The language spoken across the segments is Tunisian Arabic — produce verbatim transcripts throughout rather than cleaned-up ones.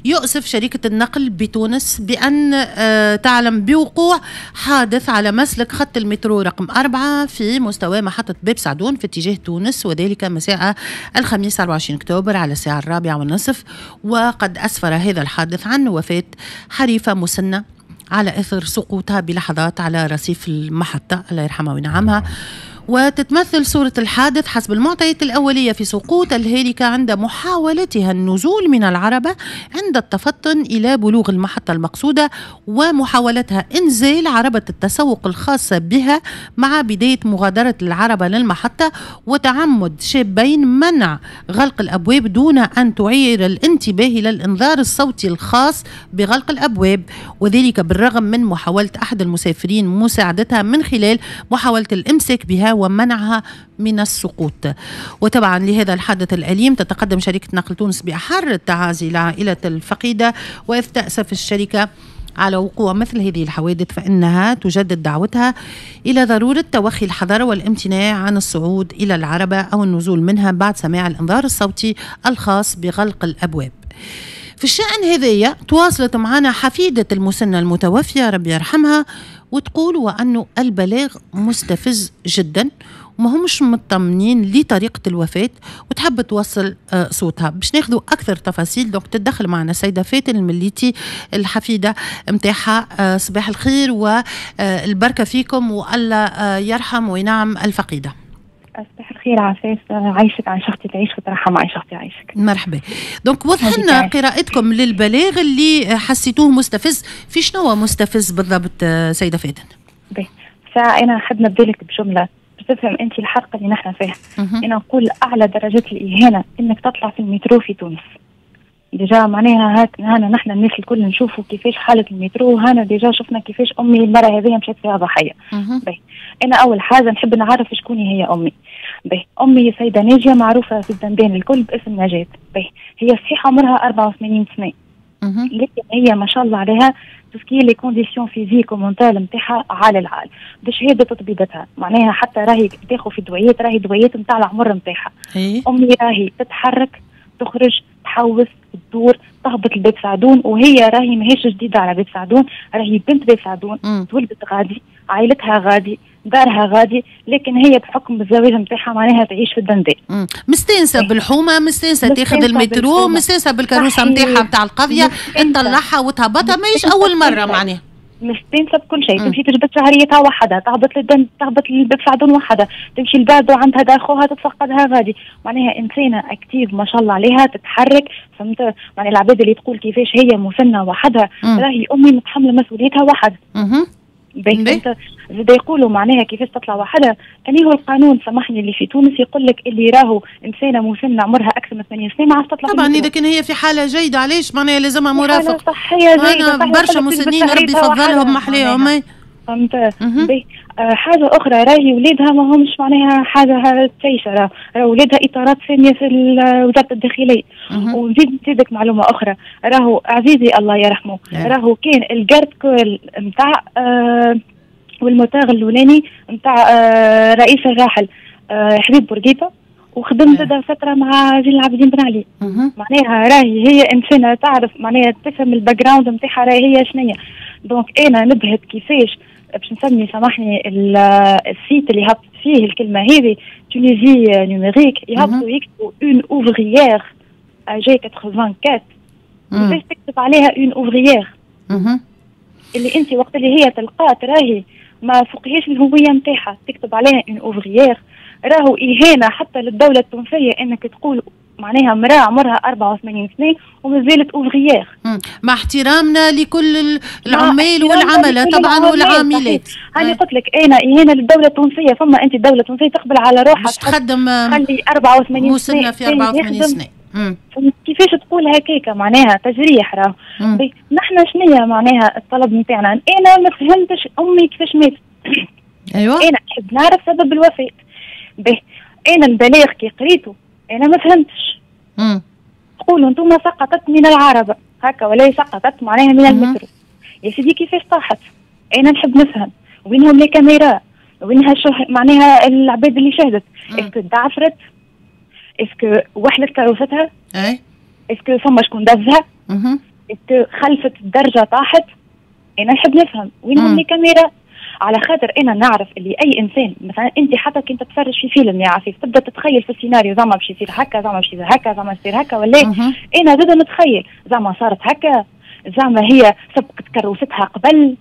يؤسف شركة النقل بتونس بأن آه، تعلم بوقوع حادث على مسلك خط المترو رقم أربعة في مستوى محطة باب سعدون في اتجاه تونس، وذلك مساء الخميس أربعة وعشرين أكتوبر على الساعة الرابعة والنصف. وقد أسفر هذا الحادث عن وفاة حريفة مسنة على إثر سقوطها بلحظات على رصيف المحطة، الله يرحمها وينعمها. وتتمثل صورة الحادث حسب المعطيات الأولية في سقوط الهالكة عند محاولتها النزول من العربة عند التفطن إلى بلوغ المحطة المقصودة، ومحاولتها إنزال عربة التسوق الخاصة بها مع بداية مغادرة العربة للمحطة، وتعمد شابين منع غلق الأبواب دون أن تعير الانتباه إلى الإنذار الصوتي الخاص بغلق الأبواب، وذلك بالرغم من محاولة أحد المسافرين مساعدتها من خلال محاولة الإمساك بها ومنعها من السقوط. وطبعا لهذا الحادث الأليم تتقدم شركة نقل تونس بأحر التعازي لعائلة الفقيدة، وإذ تأسف الشركة على وقوع مثل هذه الحوادث فإنها تجدد دعوتها إلى ضرورة توخي الحذر والامتناع عن الصعود إلى العربة أو النزول منها بعد سماع الإنذار الصوتي الخاص بغلق الأبواب. في الشأن هذايا تواصلت معنا حفيدة المسنة المتوفية ربي يرحمها، وتقول وأنه البلاغ مستفز جدا وما همش مطمنين لطريقة الوفاة، وتحب توصل صوتها باش ناخذوا أكثر تفاصيل. donc تدخل معنا السيدة فاتن المليتي الحفيدة متاعها. صباح الخير والبركة فيكم، والله يرحم وينعم الفقيدة. صباح الخير عفاف، عايشك عن شختي تعيش وترحم عن شختي عايشك. مرحبا. donc وضح لنا قراءتكم للبلاغ اللي حسيتوه مستفز، في شنو مستفز بالضبط سيدة فاتن؟ باهي، فأنا نحب نبدا لك بجملة باش تفهم أنت الحرقة اللي نحن فيها. أنا نقول أعلى درجات الإهانة إنك تطلع في المترو في تونس. déjà معناها هاك هانا نحن الناس الكل نشوفوا كيفاش حالة المترو، هانا déjà شفنا كيفاش أمي المرة هذه مشات فيها ضحية. باهي، أنا أول حاجة نحب نعرف شكون هي أمي. باهي، أمي سيدة ناجية معروفة في الدندان الكل باسم نجاة. باهي، هي صحيح عمرها أربعة وثمانين سنة، لكن هي ما شاء الله عليها tout ce qui est les conditions physiques و mentales نتاعها على العال، بشهادة طبيبتها، معناها حتى راهي تاخذ في دويات، راهي دويات نتاع العمر نتاعها. أمي راهي تتحرك، تخرج، تحوس، تدور، تهبط لباب سعدون، وهي راهي ماهيش جديدة على باب سعدون، راهي بنت باب سعدون، تولدت غادي، عائلتها غادي، دارها غادي، لكن هي بحكم الزواج نتاعها معناها تعيش في الدندان. مستانسه بالحومه، مستانسه تاخذ المترو، مستانسه بالكروسه نتاعها نتاع القضية، تطلعها وتهبطها، ماهيش اول مرة معناها. مستانسه بكل شيء، تمشي تجبد شهريتها وحدها، تهبط للدن، تهبط للباب سعدون وحدها، تمشي لبعده عندها دار خوها تتفقدها غادي، معناها انسانه active ما شاء الله عليها، تتحرك، فهمت؟ معناها العباد اللي تقول كيفاش هي مسنة وحدها، راهي امي متحملة مسؤوليتها وحدها. باهي، زاد يقولوا معناها كيفاش تطلع وحدها، أني هو القانون سامحني اللي في تونس يقول لك اللي راهو انسانه مسنة عمرها اكثر من ثمانين سنة ما عادش تطلع. طبعا اذا كان هي في حاله جيدة علاش معناها لازمها مرافق؟ صحية جيدة، برشا مسنين ربي يفضلهم محليهم. فهمت؟ باهي، آه حاجة اخرى راهي ولادها ما همش معناها حاجة تعيشه، راه ولادها اطارات ثانية في وزارة الداخلية. ونزيد نزيدك معلومة اخرى، راهو عزيزي الله يرحمه، راهو كان ال garde corps نتاع آه وال motard الاولاني نتاع آه رئيس الراحل آه حبيب بورقيبة، وخدم زاد فترة مع زين العابدين بن علي. معناها راهي هي انسانه تعرف معناها تفهم ال background نتاعها راهي هي شنية. donc انا نبهت كيفاش باش نسمي سامحني ال site اللي هبط فيه الكلمة هذه Tunisie Numérique، يهبطوا يكتبوا une ouvrière âgée أربعة وثمانين، كيفاش تكتب عليها une ouvrière اللي انت وقت اللي هي تلقات راهي ما فوقهاش الهوية نتاعها تكتب عليها une ouvrière؟ راهو اهانه حتى للدولة التونسية انك تقول معناها امراة عمرها أربعة وثمانين سنة ومازالت ouvrière. مع احترامنا لكل العمال والعملة طبعا والعاملات. هاني قلت لك انا اهانه للدولة التونسيه، فما انت الدولة التونسية تقبل على روحها باش تخدم خلي أربعة وثمانين سنة في أربعة وثمانين سنه. كيفاش تقول هكاك؟ معناها تجريح راه. نحن شنية معناها الطلب نتاعنا؟ انا ما فهمتش امي كيفاش ماتت. ايوه انا نحب نعرف سبب الوفاة. به، انا البلاغ كي قريته انا ما فهمتش. تقولوا انتم سقطت من العربة هكا ولا سقطت معناها من المترو. يا سيدي كيفاش طاحت؟ انا نحب نفهم وينهم les caméras، وينها شه... معناها العباد اللي شهدت. est-ce que دعفرت؟ est-ce que وحلت كروستها؟ اي est-ce que فما شكون دزها؟ est-ce que خلفت الدرجة طاحت؟ انا نحب نفهم وينهم les caméras، على خاطر انا نعرف اللي اي انسان مثلا انت حتى كنت تتفرج في فيلم يا عفيف تبدا تتخيل في السيناريو زعما باش يصير هكا، زعما باش يصير هكا، زعما يصير هكا، ولا انا زاد نتخيل زعما صارت هكا، زعما هي سبقت كروستها قبل،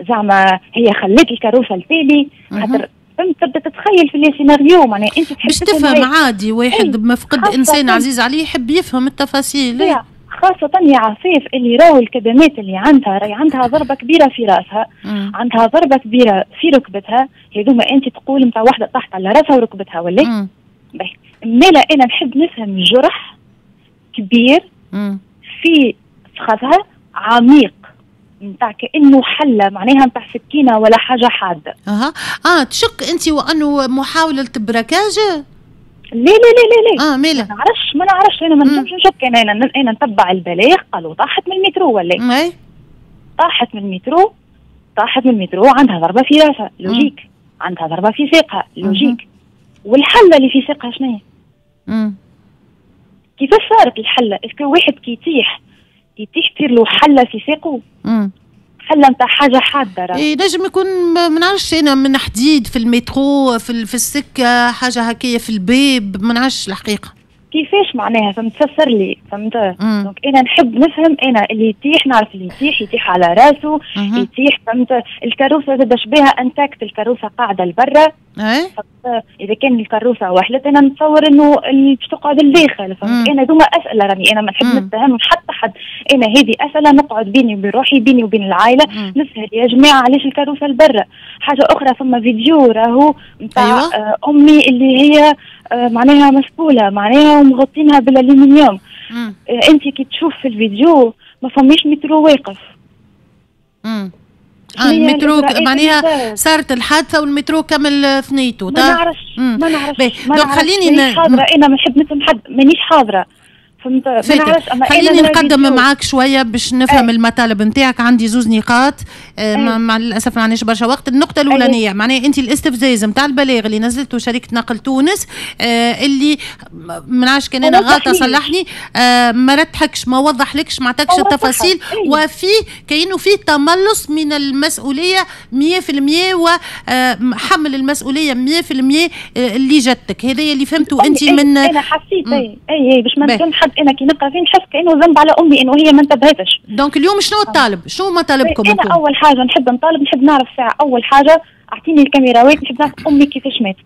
زعما هي خلت الكروسه التالي، خاطر فهمت تبدا تتخيل في les scénarios معناها انت تحب باش تفهم. عادي واحد ما فقد انسان عزيز عليه يحب يفهم التفاصيل، خاصة يا عفيف اللي راهو الكدمات اللي عندها راهي عندها ضربة كبيرة في راسها، مم. عندها ضربة كبيرة في ركبتها، هذوما أنت تقول نتاع واحدة طاحت على راسها وركبتها ولا؟ باهي، مالا أنا نحب نفهم جرح كبير مم. في فخذها عميق نتاع كأنه حلة معناها نتاع سكينة ولا حاجة حادة. أها اه تشك أنت وأنه محاولة braquage؟ لا لا لا لا لا اه مالا ما نعرفش ما نعرفش انا ما نجمش نشك، انا انا انا نتبع البلاغ قالوا طاحت من المترو ولا اي طاحت من المترو، طاحت من المترو عندها ضربه في راسها logique، عندها ضربه في ساقها logique، والحله اللي في ساقها شنو هي؟ كيفاش صارت الحلة؟ est-ce que واحد كي يطيح يطيح تصير له حله في ساقه؟ حله نتاع حاجة حادة راه. اي نجم يكون ما نعرفش انا من حديد في المترو في في السكة حاجة هكايا في الباب، ما نعرفش الحقيقة كيفاش معناها، فهمت تفسر لي فهمت. donc انا نحب نفهم، انا اللي يطيح نعرف اللي يطيح يطيح على راسه يطيح فهمت. الكروسه زاد شبيها intacte، الكروسه قاعدة لبرا اذا كان الكروسه وحلت انا نتصور انه باش تقعد لداخل فهمت. انا دوما اسئلة راني انا ما نحب نتهم حتى حد، انا هذه اسئلة نقعد بيني وبين روحي بيني وبين العائلة نسال يا جماعة علاش الكروسه لبرا. حاجة اخرى فما فيديو راهو نتاع أيوة. آه امي اللي هي آه معناها مسؤولة معناها ومغطينها بالالومنيوم. آه انت كي تشوف في الفيديو ما فماش مترو واقف. امم اه المترو معناها صارت الحادثة والمترو كمل ثنيته. ما نعرفش ما نعرفش donc خليني ن... حاضره انا ما نحب نفهم حد، مانيش حاضره فهمت، ما نعرفش. اما خليني نقدم معاك شوية باش نفهم أي. المطالب نتاعك. عندي زوز نقاط آه مع للاسف ما عندناش برشا وقت. النقطة الاولانية معناها انت الاستفزاز نتاع البلاغ اللي نزلته شركة نقل تونس آه اللي ما نعرفش كان انا غلطه صلحني آه ما رتحكش ما وضحلكش ما عطاكش التفاصيل، وفي كانه في تملص من المسؤولية مية في المية وحمل المسؤولية مية في المية اللي جاتك. هذا اللي فهمته انت من انا حسيت اي اي باش ما نكون حد انا كي نقرا فيه نحس كانه ذنب على امي انه هي ما انتبهتش. donc اليوم شنو الطالب؟ شنو مطالبكم انتم؟ انا اول حاجة نحب نطالب، نحب نعرف ساعة اول حاجة اعطيني الكاميراوات، نحب نعرف امي كيفاش ماتت.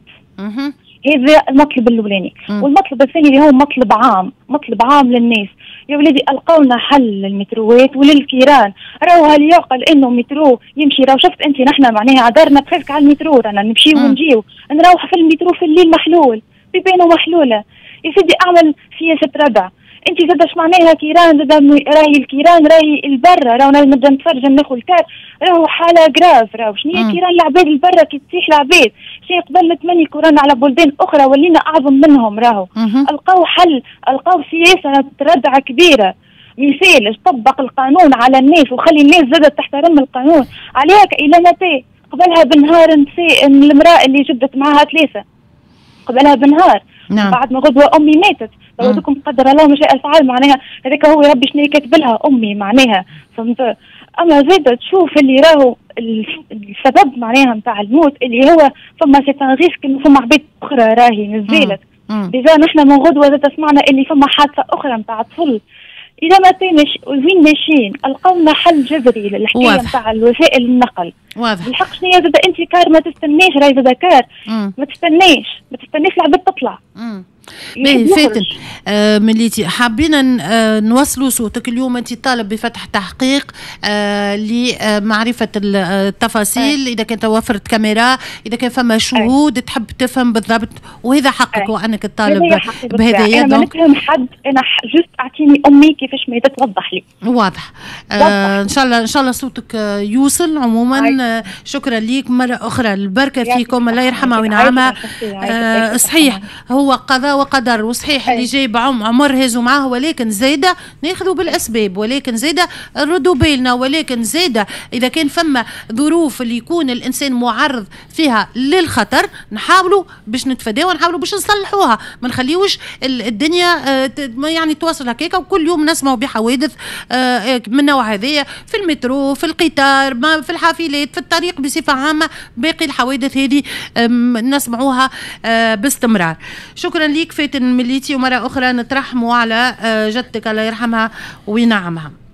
هذا المطلب الاولاني. والمطلب الثاني اللي هو مطلب عام، مطلب عام للناس، يا ولادي القوا لنا حل للمتروات وللكيران. راهو هل يعقل انه مترو يمشي؟ راهو شفت انت نحن معناها عذرنا presque على المترو، رانا نمشيو ونجيو نروح في المترو في الليل محلول، بيبانو محلولة. يا سيدي اعمل سياسة ردع. انت زاد اش معناها كيران؟ زاد راهي الكيران راهي البرة، راهو نبدا نتفرج ناخذ الكار راهو حاله grave. راهو شنو هي كيران العباد البرة كي تطيح العباد؟ شي قبل نتمني كورونا على بلدان اخرى ولينا اعظم منهم. راهو القاو حل، القاو سياسة ردع كبيرة. مثال طبق القانون على الناس وخلي الناس زادت تحترم القانون. عليك الى متى؟ قبلها بنهار نساء المراة اللي جبدت معها ثلاثة قبلها بنهار. نعم. بعد ما غدوه امي ماتت، لو قدر الله ما شاء فعل، معناها هذاك هو ربي شنو كاتب لها امي معناها فهمت. اما زاد تشوف اللي راهو السبب معناها نتاع الموت اللي هو فما c'est un risque، فما عباد اخرى راهي نزلت déjà. نحن من غدوه زاد سمعنا اللي فما حادثه اخرى نتاع طفل. إذا ما تمش وين ماشيين؟ القونا حل جذري للحكايه نتاع الوسائل النقل. واضح. الحق شنو زاد انت car ما تستناش، راهي زاد car ما تستناش، ما تستناش العباد تطلع. باهي فاتن آه مليتي حابين آه نوصلوا صوتك اليوم. انت طالب بفتح تحقيق آه لمعرفة التفاصيل، اذا كان توفرت كاميرا، اذا كان فما شهود، أي. تحب تفهم بالضبط، وهذا حقك وانك تطالب بهذايا. انا ما نفهم حد، انا juste اعطيني امي كيفاش ما توضح لي. واضح. آه ان شاء الله ان شاء الله صوتك يوصل. عموما آه شكرا ليك مرة اخرى، البركة فيكم، الله يرحمها وينعمها. آه صحيح هو قضاء قضاء وقدر، وصحيح اللي جاي عمر هزوا معاه، ولكن زايدة ناخذوا بالاسباب، ولكن زايدة نردوا بالنا، ولكن زايدة اذا كان فما ظروف اللي يكون الانسان معرض فيها للخطر نحاولوا باش نتفاداوها، نحاولوا باش نصلحوها، ما نخليوش الدنيا آه، يعني تواصل هكاكا. وكل يوم نسمعوا بحوادث آه، من النوع هذايا في المترو، في القطار، في الحافلات، في الطريق بصفة عامه. باقي الحوادث هذه نسمعوها آه، باستمرار. شكرا ليك فاتن مليتي، ومرة اخرى نترحموا على جدتك، الله يرحمها وينعمها.